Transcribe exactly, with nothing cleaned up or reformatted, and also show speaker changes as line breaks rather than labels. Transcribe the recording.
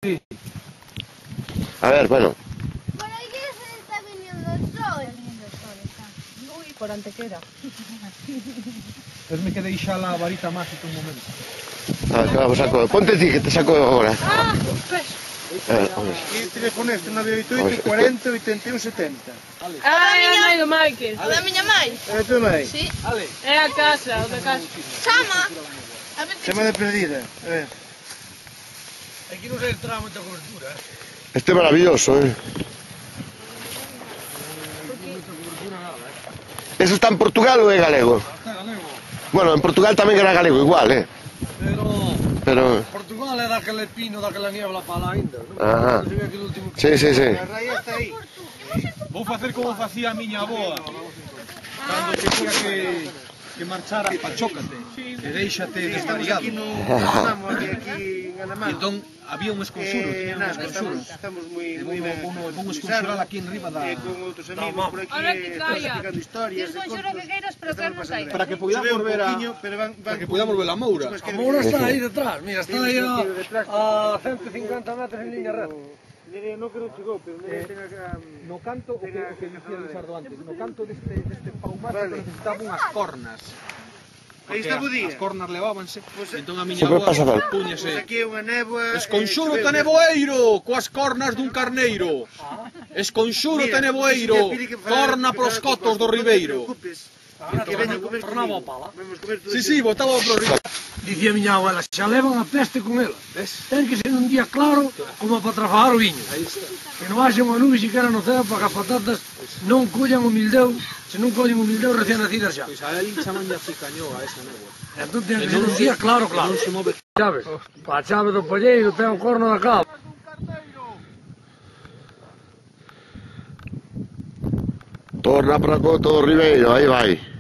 Sí.
A ver, bueno.
Por ahí se está viniendo el sol.
Uy, por Antequera.
Pues me quedé xa la varita mágica un momento.
Ah, claro, saco. Ponte ti, que te saco ahora.
Ah, pues.
A ver, vamos.
E teléfono este nove oito oito, cuarenta, oitenta e un, setenta.
Ah, é a nai do Michael.
O da miña mãe?
É tu mãe?
Sí.
É a casa, o da casa.
Chama. A ver
Chama de perdida. A ver.
Aquí non se entra moita cobertura, eh.
Este é maravilloso, eh. Eso está en Portugal ou é galego?
Está galego.
Bueno, en Portugal tamén era galego igual, eh.
Pero...
Pero...
Portugal é daquele pino, daquela niebla para lá ainda.
Ajá.
Non se ve aquele último...
Sí, sí, sí.
A raia está aí.
Vou facer como facía a miña aboa. Cando quería que... que marchara pa chócate. E deixate
Estamos
desvariado.
aquí no... Estamos aquí, aquí en Anamán.
E entón había un esconsuros,
Eh,
tiña un
nada, estamos,
esconsuros.
estamos moi
E
moi
vou,
ben.
vou, vou esconsurar aquí en riba da...
Eh, con outros
da
amigos
mama.
por aquí,
Ahora que
eh,
caia.
platicando historias.
Tens
e
conxuro
contos.
que queiras, pero que
Estamos
non
pasando
caia.
ben.
Para que podamos
Chove un
volver a...
poquinho, pero van, van
Para que podamos volver a Moura.
Pues
A
que-
Moura está
Sí, sí.
aí detrás, mira, está
Sí,
aí
sí,
a,
sí, detrás.
a ciento cincuenta metros en línea recta.
Mire, non que non chegou, pero mire,
Eh,
tenga que...
No canto, o que, o que dicía Lizardo antes, no canto deste, deste paumato
Vale.
necesitaba unhas cornas.
Aí está o
Porque
día.
as cornas levábanse,
Pues,
entón a miña
Sempre
avoa
pasa tal.
Pois
púñase.
aquí é unha néboa...
Esconxuro
eh,
te
choveu,
neboeiro, coas cornas dun carneiro. Esconxuro te neboeiro, corna pros cotos do ribeiro.
Que veña a comer
Tornaba
comigo.
pala.
Vamos comer todo
Sí,
isto.
sí, botaba pro ribeiro.
Dicía miña abuela, xa levan a peste con ela. Ten que ser un día claro como para trafagar o viño. Que non haxe unha nube siquiera no ceo para que as patatas non collan o mildeu, se non collen o mildeu recién nacidas xa.
Pois a él chaman de aficañoa esa néboa.
Entón ten que ser un día claro, claro.
Non se move.
Sabes? Pa chave do polleiro ten o corno da cava.
Torna para Coto do Ribeiro, aí vai.